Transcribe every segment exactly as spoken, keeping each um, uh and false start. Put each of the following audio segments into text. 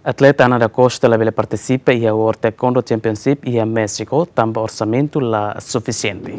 Atleta Ana da Costa labele partisipa iha World Taekwondo Championship iha México, tanba orsamentu la sufisiente.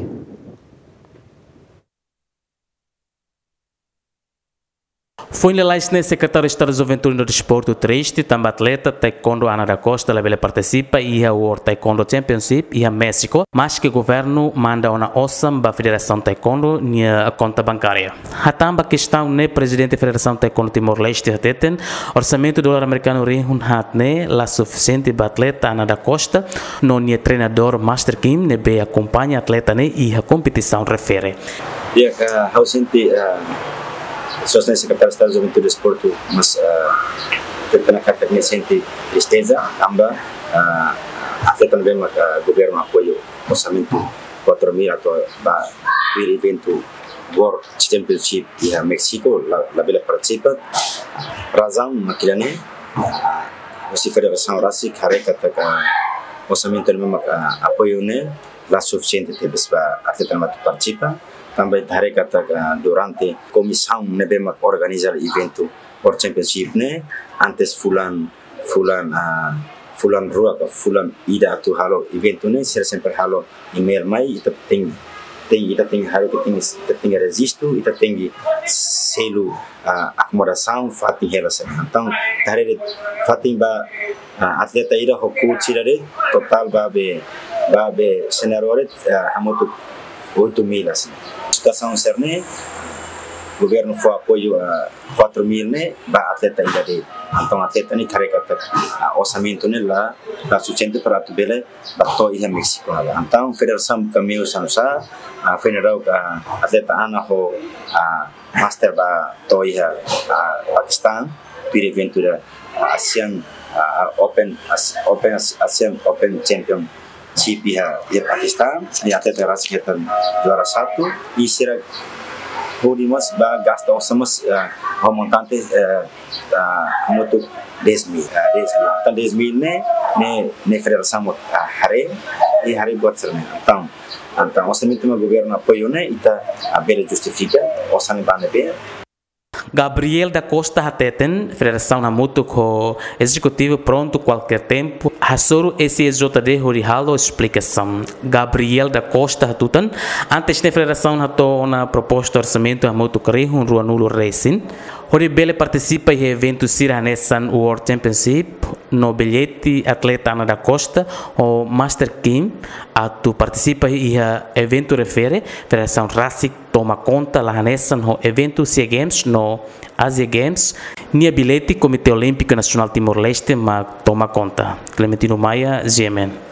Foin lalais ne'e, Sekretáriu Estadu Juventude no Desportu triste tanba atleta taekwondo Ana da Costa labele partisipa iha World Taekwondo Championship iha México, maske governu manda ona osan ba Federasaun Taekwondo nia konta bankária. Hatán ba kestaun ne'e, Prezidente Federasaun Taekwondo Timor-Leste hateten, orsamentu dolar amerikanu rihun haat ne'e la sufisiente ba atleta Ana da Costa no nia treinadór Master Kim ne'ebé akompaña atleta ne'e iha kompetisaun refere. Ya, ka, ha'u sente, ah, sosna Sekretáriu Estadu Juventude Desportu, mas, ah, tetena katak nia sente tristeza, tanba, ah, atleta ne'ebé mak, ah, governu apoiu orsamentu quatro mil atu ba tuir eventu World Championship iha México, la, labele partisipa. Razaun mak ida-ne'e, ah, husi federasaun rasik haree katak orsamentu ne'ebé mak, ah, apoiu ne'e la sufisiente tebes ba atleta ne'ebé atu partisipa. Tanba ita haree katak, ah, durante komisaun ne'ebé mak organiza eventu World Championship ne'e, antes fulan, fulan, ah, fulan rua ka fulan ida atu halo eventu ne'e, sira sempre halo email mai, ita tenke, tenke, ita tenke halo, ita tenke, ita tenke rejistu, ita tenke selu, ah, akomodasaun, fatin hela sira. Entaun, ita haree de'it fatin ba, ah, atleta ida ho coach ida de'it, totál ba be, ba be senáriu de'it, ah, hamutuk oito mil, assim. Situasaun sira-ne'e, governu fó apoiu, ah, quatro mil ne'e ba atleta ida de'it. Entaun atleta ne'e karik katak, ah, orsamentu ne'e la, la sufisiente para atu bele ba to'o iha México ne'e. Entaun federasaun kaminho sanusá, ah, federasaun, ah, atleta Ana ho, ah, Master ba to'o iha, ah, Pakistan, tuir eventu ida, ah, Asian, ah, Open, As-, Open, As-, Asian Open Championship iha, iha Pakistan, i atleta rasik hetan juara satu, i sira hodi mós ba gasta osan mós, ah, ho montante, eh, ah, hamutuk dez mil, ah, dez mil. Entaun dez mil ne'e, ne'e, ne'e federasaun mós, ah, haree, i haree buat sira-ne'e. Entaun, entaun orsamentu mak governu apoiu ne'e, ita, ah, bele justifika osan ne'ebé ne'ebé. Gabriel da Costa hateten, federasaun hamutuk ho ezekutivu prontu kualkér tempu hasoru S T J D hodi halo esplikasaun. Gabriel da Costa hatutan, antes ne'e federasaun hato'o ona proposta orsamentu hamutuk rihun ruanulu resin hodi bele partisipa iha eventu sira hanesan World Championship, no billete atleta Ana da Costa ho Master Kim atu partisipa iha eventu refere, federasaun rasik toma konta la hanesan ho eventu SEA Games no Asia Games, nia billete Komité Olímpiku Nasionál Timor-Leste mak toma konta. Clementino Maia, G M N.